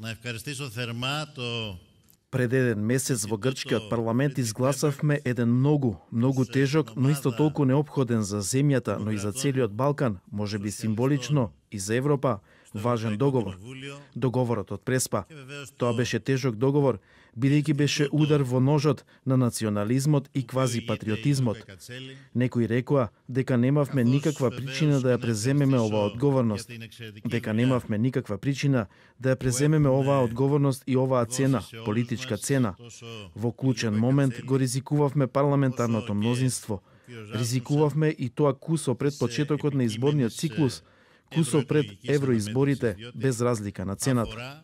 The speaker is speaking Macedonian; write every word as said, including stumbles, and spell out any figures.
Να ευχαριστήσω θερμά το Пред еден месец во грчкиот парламент изгласавме еден многу, многу тежок, но исто толку неопходен за земјата, но и за целиот Балкан, можеби символично и за Европа, важен договор. Договорот од Преспа. Тоа беше тежок договор, бидејќи беше удар во ножот на национализмот и квазипатриотизмот. Некои рекоа дека немавме никаква причина да ја преземеме оваа одговорност, дека немавме никаква причина да ја преземеме оваа одговорност и оваа цена, политичка цена. Во клучен момент го ризикувавме парламентарното мнозинство. Ризикувавме и тоа кусо пред почетокот на изборниот циклус, кусо пред евроизборите, без разлика на цената.